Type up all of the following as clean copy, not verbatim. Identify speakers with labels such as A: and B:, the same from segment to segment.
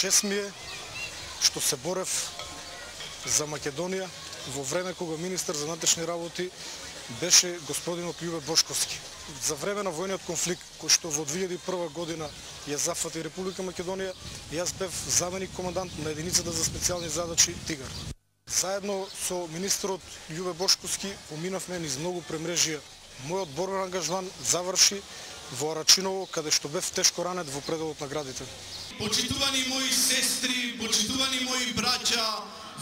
A: Чест ми е што се борев за Македонија во време кога министар за внатрешни работи беше господинот Љубе Бошковски. За време на војниот конфликт кој што во 2001 година ја зафати Република Македонија, јас бев заменик командант на единицата за специјални задачи Тигар. Заедно со министерот Љубе Бошковски поминавме низ многу премрежија. Мојот борбен ангажман заврши во Арачиново, каде што бев тешко ранет во пределот на градите.
B: Почитувани мои сестри, почитувани мои браќа,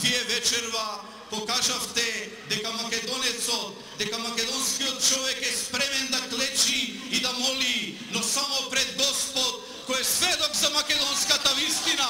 B: вие вечерва покажавте дека македонецот, дека македонскиот човек е спремен да клечи и да моли, но само пред Господ, кој е сведок за македонската вистина.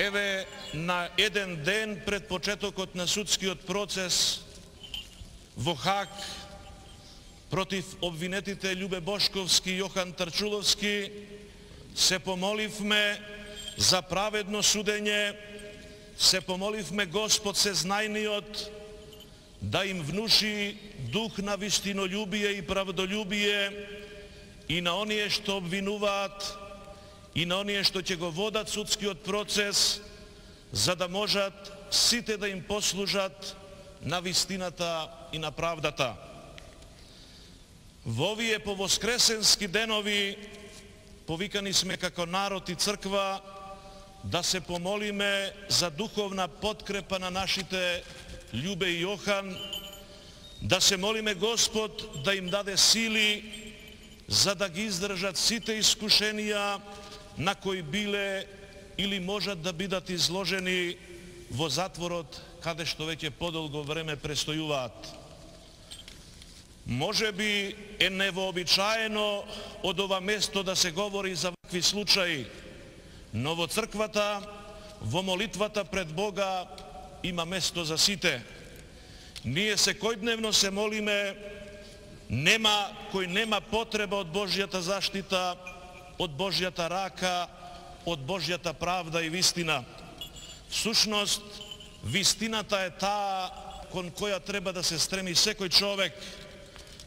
C: Еве, на еден ден пред почетокот на судскиот процес во Хаг против обвинетите Љубе Бошковски и Јохан Тарчуловски се помоливме за праведно судење, се помоливме Господ Сезнајниот да им внуши дух на вистинољубие и правдолюбие и на оние што обвинуваат и на оние што ќе го водат судскиот процес, за да можат сите да им послужат на вистината и на правдата. Во овие повоскресенски денови повикани сме како народ и црква да се помолиме за духовна подкрепа на нашите Љубе и Јохан, да се молиме Господ да им даде сили за да ги издржат сите искушенија на кои биле или можат да бидат изложени во затворот, каде што веќе подолго време престојуваат. Може би е невообичаено од ова место да се говори за вакви случаи, но во црквата, во молитвата пред Бога има место за сите. Ние секојдневно се молиме, нема кој нема потреба од Божјата заштита, од Божјата рака, од Божјата правда и вистина. Всушност, вистината е таа кон која треба да се стреми секој човек.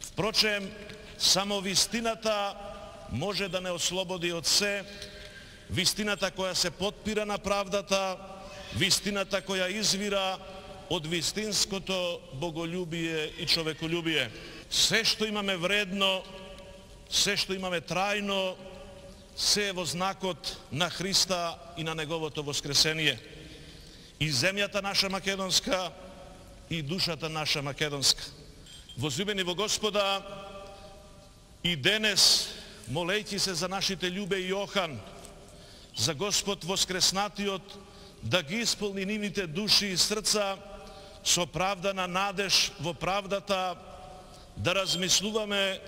C: Впрочем, само вистината може да не ослободи од се, вистината која се потпира на правдата, вистината која извира од вистинското боголюбие и човеколюбие. Се што имаме вредно, се што имаме трајно, се е во знакот на Христа и на Неговото воскресение. И земјата наша македонска, и душата наша македонска. Возлюбени во Господа, и денес, молејќи се за нашите Љубе и Јохан, за Господ воскреснатиот, да ги исполни нивните души и срца со правдана надеж во правдата, да размислуваме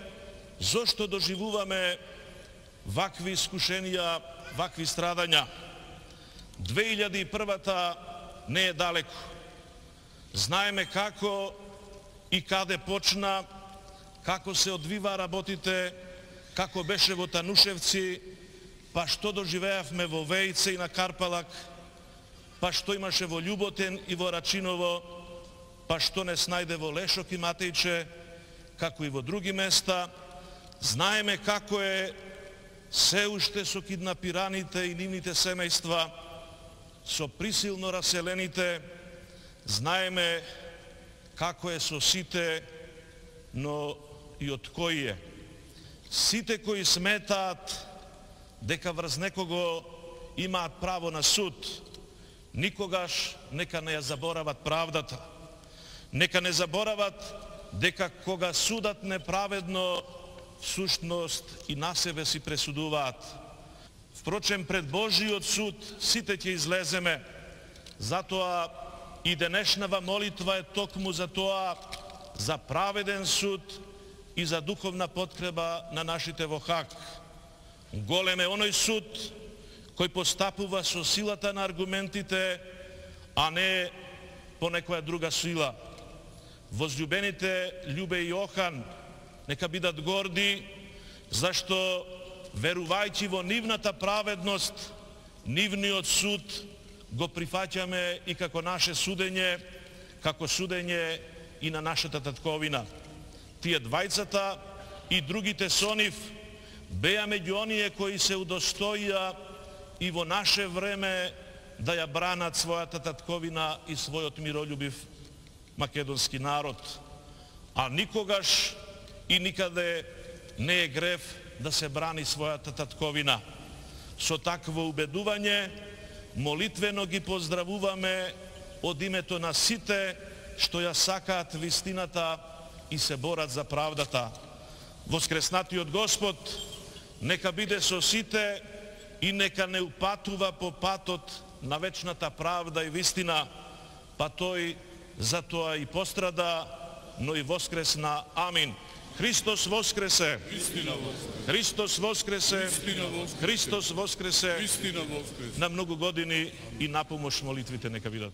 C: зошто доживуваме вакви искушенија, вакви страдања. 2001-та не е далеко. Знаеме како и каде почна, како се одвива работите, како беше во Танушевци, па што доживеавме во Вејце и на Карпалак, па што имаше во Љуботен и во Рачиново, па што не снајде во Лешок и Матејче, како и во други места. Знаеме како е се уште со киднапираните и нивните семејства, со присилно раселените. Знаеме како е со сите, но и од кои е. Сите кои сметаат дека врз некого имаат право на суд, никогаш нека не ја заборават правдата. Нека не заборават дека кога судат неправедно, всушност и на себе си пресудуваат. Впрочем, пред Божиот суд сите ќе излеземе. Затоа и денешнава молитва е токму за тоа, за праведен суд и за духовна подкрепа на нашите во Хаг. Голем е оној суд кој постапува со силата на аргументите, а не по некоја друга сила. Возлюбените Љубе и Јохан нека бидат горди, зашто верувајќи во нивната праведност, нивниот суд го прифаќаме и како наше судење, како судење и на нашата татковина. Тие двајцата и другите со нив беа меѓу оние кои се удостоија и во наше време да ја бранат својата татковина и својот миролюбив македонски народ. А никогаш и никаде не е грев да се брани својата татковина. Со такво убедување, молитвено ги поздравуваме од името на сите што ја сакаат вистината и се борат за правдата. Воскреснатиот Господ нека биде со сите и нека не упатува по патот на вечната правда и вистина, па тој за тоа и пострада, но и воскресна. Амин. Христос воскресе! Христос воскресе! Христос воскресе! На многу години и напомош молитвите нека бидат.